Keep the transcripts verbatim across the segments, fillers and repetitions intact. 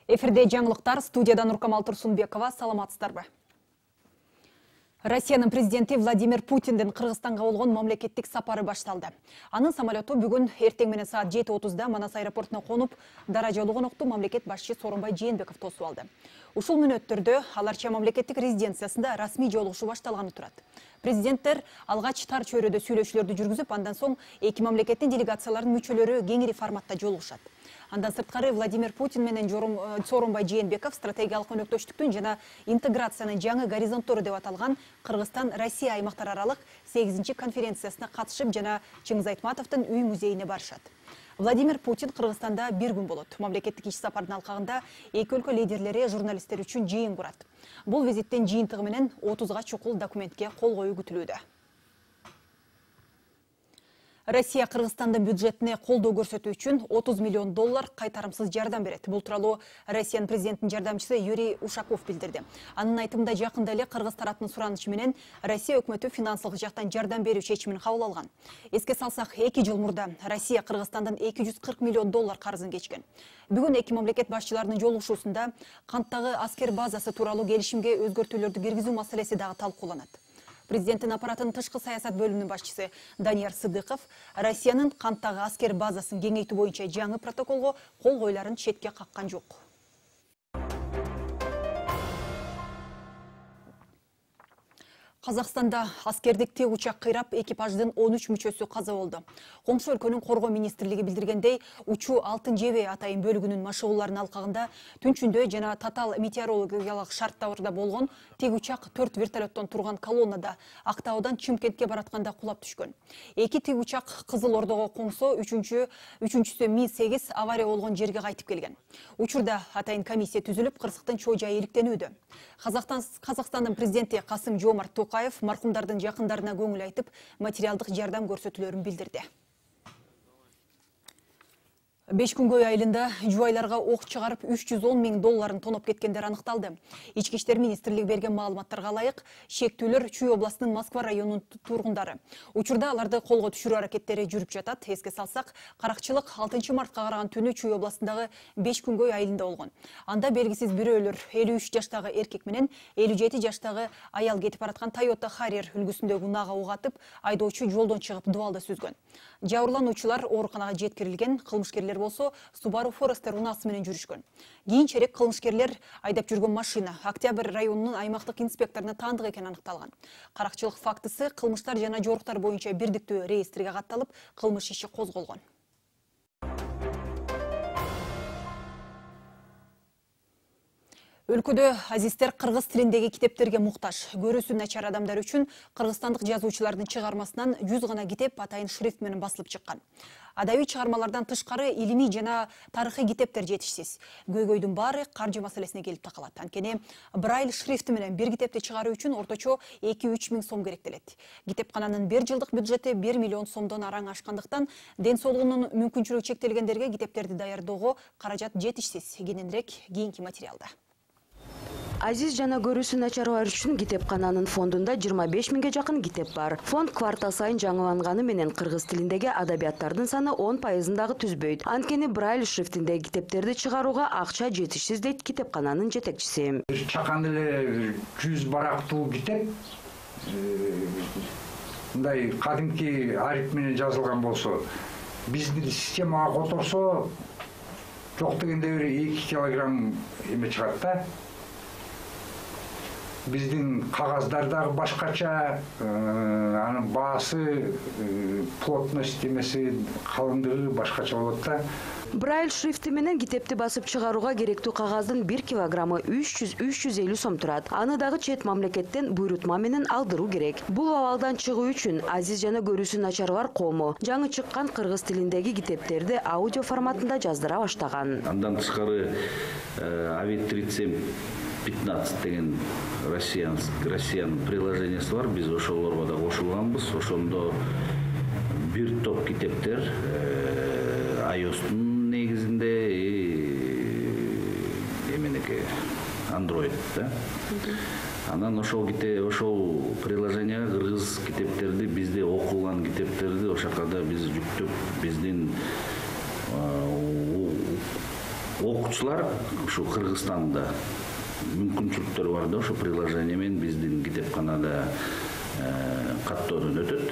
Эфирде жаңылыктар, студиядан Нуркамал Турсунбекова, саламатсыздарбы? Россиянын президенти Владимир Путиндин Кыргызстанга болгон мамлекеттик сапары башталды. Анын самолету бүгүн эртең менен саат жети отузда Манас аэропортуна конуп, даражалуу конокту мамлекет башчысы Сооронбай Жээнбеков тосуп алды. Ушул мүнөттөрдө аларча мамлекеттик резиденциясында расмий жолугушуу башталганы турат. Президенттер алгач тар чөйрөдө сүйлөшүүлөрдү жүргүзүп, андан соң эки мамлекеттин делегацияларынын мүчөлөрү кеңири форматта жолугушат. Андан сырткары Владимир Путин менен Сооронбай Жээнбеков стратегиялык өнөктөштүктүн жана интеграциянын жаңы горизонттору деп аталган Кыргызстан-Россия аймактар аралык сегизинчи конференциясына катышып жана Чыңгыз Айтматовдун үй музейине барышат. Владимир Путин Кыргызстанда бир күн болот. Мамлекеттик иш сапардын алкагында эки өлкө лидерлери журналисттер үчүн жыйын курат. Бул визиттин жыйынтыгы менен отузга чукул документке кол коюу күтүлүүдө. Россия Кыргызстандын бюджетине колдоо көрсөтүү үчүн отуз миллион доллар кайтарымсыз жардам берет. Бул тууралуу Россиянын президентинин жардамчысы Юрий Ушаков билдирди. Анын айтымында жакында эле Кыргыз тараптын суранышы менен Россия өкмөтү финансылык жактан жардам берүү чечимин кабыл алган. Эске салсак, эки жыл мурда Россия Кыргызстандан эки жүз кырк миллион доллар карызын кечкен. Бүгүн эки мамлекет башчыларынын жолугушуусунда канттагы аскер базасы тууралуу келишимге өзгөртүүлөрдү киргизүү маселеси дагы талкууланат. Президенттин аппаратынын тышкы саясат бөлүмүнүн башчысы Данияр Сыдыков Россиянын канттагы аскер базасын кеңейтүү боюнча жаңы протоколго кол коюларын четке каккан жок. Казакстанда аскердик тик учак кыйрап, экипаждын он үч мүчөсү каза болду. Коңшу өлкөнүн коргоо министрлиги билдиргендей, учуу алтын жебе атайын бөлүгүнүн машыгууларынын алкагында түнчүндө жана татаал метеорологиялык шарттарда болгон тик учак төрт вертолеттон турган колоннада Актаудан Чымкентке баратканда кулап түшкөн. Эки тик учак Кызыл Ордого коңсо, үчүнчү үчүнчүсү Ми сегиз авария болгон жерге кайтып келген. Учурда атайын комиссия түзүлүп, кырсыктын чоо жайы иликтенүүдө. Казакстандын президенти Касым Жомарт Токаев маркумдардын жакындарына көңүл айтып, материалдык жардам көрсөтүүлөрүн билдирди. Беш күнгөй айылында жубайларга ок чыгарып үч жүз он миң долларын тоноп кеткендер аныкталды. Ички иштер министрлиги берген маалыматтарга ылайык, шектүүлөр Чүй областынын Москва районунун тургундары. Учурда аларды колго түшүрүү аракеттери жүрүп жатат. Эске салсак, каракчылык алтынчы мартка караган түнү Чүй областындагы беш күнгөй айылында болгон. Анда белгисиз бирөөлөр элүү үч жаштагы эркек менен элүү жети жаштагы аял кетип бараткан Toyota Harrier үлгүсүндөгү унаага ук атып, айдоочу жолдон чыгып дубалда сүзгөн. Жабырлануучулар ооруканага жеткирилген, кылмышкерлер болсо Subaru Forester унаасы менен жүрүшкөн. Кийинчерээк кылмышкерлер айдап жүргөн машина Октябрь районунун аймактык инспекторуна таандык экени аныкталган. Каракчылык фактысы кылмыштар жана жоруктар боюнча бирдиктүү реестирге катталып, кылмыш иши козголгон. Өлкөдө азиздер кыргыз тилиндеги китептерге муктаж. Көрүүсү начар адамдар үчүн кыргызстандык жазуучулардын чыгармасынан жүз гана китеп атайын шрифт менен басылып чыккан. Адабий чыгармалардан тышкары илимий жана тарыхый китептер жетишсиз. Көйгөйдүн баары каржы маселесине келип такалат. Анткени Брайль шрифти менен бир китепти чыгаруу үчүн орточо эки үч миң сом керектелет. Китепкананын бир жылдык бюджети бир миллион сомдон араң ашкандыктан, ден соолугунун мүмкүнчүлүгү чектелгендерге китептерди даярдоого каражат жетишсиз. Кененирээк кийинки материалда. Азиз жана көрүүсү начарлар үчүн китепкананын фондунда жыйырма беш миңге жакын китеп бар. Фонд квартал сайын жаңыланганы менен кыргыз тилиндеги адабияттардын саны он пайызын дагы түзбөйт. Анткени Брайль шрифтиндеги китептерди чыгарууга акча жетишсиз дейт китепкананын жетекчиси. Чакан эле жүз барактуу китеп мындай кадимки ариф менен жазылган болсо, биздин системага которсо, жок дегенде бир эки килограмм эме чыгат да. Биздин кагаздар дагы башкача, анын баасы, плотность эмеси, калыңдыгы башкача болот да. Брайль шрифти менен китепти басып чыгарууга керектүү кагаздын бир килограммы үч жүз — үч жүз элүү сом турат. Аны дагы чет мамлекеттен буйрутма менен алдыруу керек. Бул абалдан чыгуу үчүн азиз жана көрүүсү начарлар кому жаңы чыккан кыргыз тилиндеги китептерди аудио форматында жаздыра баштаган. Андан тышкары Авид тридцать пятнадцать деген Россиянын приложениясы бар. Биз ошолорго да кошулганбыз. Ошондо бир топ китептер iOS-тун негизинде эменеке Android да. Анан ошол китеп, ошол приложенияга кыргыз китептерди, бизде окулган китептерди ошол жака да биз жүктөп, биздин окуучулар ушу Кыргызстанда мүмкүнчүлүктөрү бар да ошо приложение менен биздин китепканада каттоодон өтөт.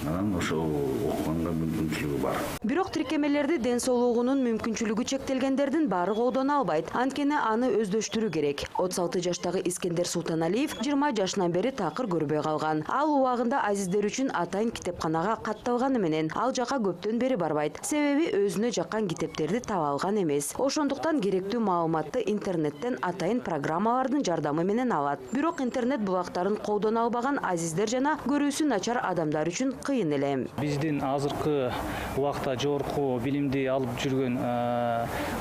Анан ошол окуганга мүмкүнчүлүгү бар. Бирок тиркемелерди ден соолугунун мүмкүнчүлүгү чектелгендердин баары колдоно албайт. Анткени аны өздөштүрүү керек. отуз алты жаштагы Искендер Султаналиев жыйырма жашынан бери такыр көрбөй калган. Ал убагында азиздер үчүн атайын китепканага катталганы менен ал жака көптөн бери барбайт. Себеби өзүнө жаккан китептерди таба алган эмес. Ошондуктан керектүү маалыматты интернеттен атайын программалардын жардамы менен алат. Бирок интернет булактарын колдоно албаган азиздер жана көрүүсү начар адамдар үчүн кыйын эле. Биздин азыркы убакта жогорку билимди алып жүргөн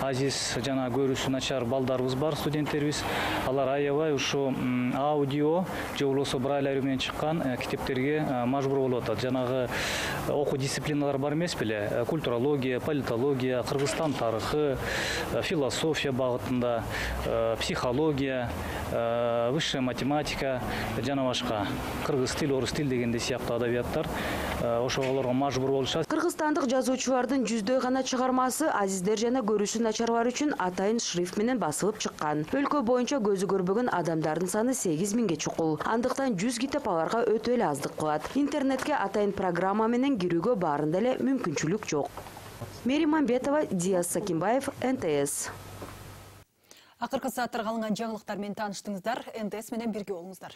азиз жана көрүүсү начар балдарыбыз бар, студенттерибиз. Алар аябай ушу аудио же болбосо брайль менен чыккан китептерге мажбур болуп атат. Жанагы окуу дисциплиналар бар эмес беле? Культурология, политология, Кыргызстан тарыхы, философия багытында, психология, высшая математика жана башка. Кыргыз тил, орус тил дегенде сыяктуу адабияттар ошолорго мажбур болушат. Кыргызстандык жазуучулардын жүздөй гана чыгармасы азиздер жана көрүүсү начарлар үчүн атайын шрифт менен басылып чыккан. Өлкө боюнча көзү көрбөгөн адамдардын саны сегиз миңге чукул. Андыктан жүз китеп аларга өтө эле аздык кылат. Интернетке атайын программа менен кирүүгө баарында эле мүмкүнчүлүк жок. Мери Мамбетова, Диас Сакимбаев, эн тэ эс. Акыркы сааттарга алынган жаңылыктар менен тааныштыңыздар. эн тэ эс менен бирге болуңуздар.